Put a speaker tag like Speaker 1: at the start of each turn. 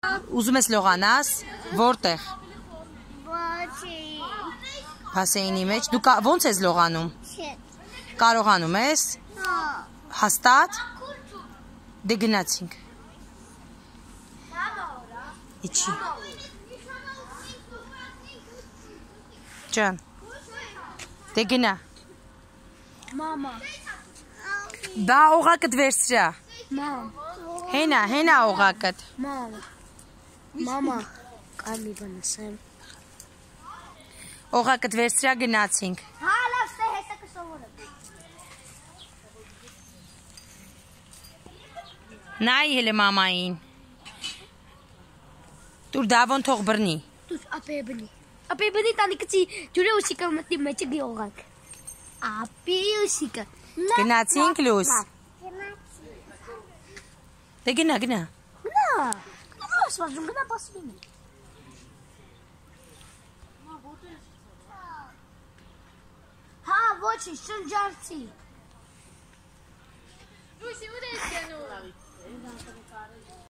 Speaker 1: Ուզում ես լողանաս, որտեղ։ Բասեյնի մեջ, դու ոնց ես լողանում։ Կարողանում ես։ Հաստատ։ Դե գնացինք։ Իչի։ Ջան։ Դե գնա։
Speaker 2: Մամա։
Speaker 1: Բա օղակդ վերցրա։
Speaker 2: Մամ։
Speaker 1: Հենա օղակդ։
Speaker 2: Մամա, կարմի բանասեմ։
Speaker 1: Օղակդ վերցրա գնացինք։
Speaker 2: Հա, լավ, ստե հետը կսովորը։
Speaker 1: Նայ հելը մամային։ Դուր դավոն թող բրնի։
Speaker 2: Դուր ապե բնի տանի կցի ջուրե ուսիկը մտնի մեջը գիողակ։ Ապի ուսիկը։
Speaker 1: Գնացինք լուս։ Դե գնա։
Speaker 2: Գնա։ Ասվածում գնա պասվին։ Հա, ոչի, շնջարցի։ Լույսի, ուր ես գնում։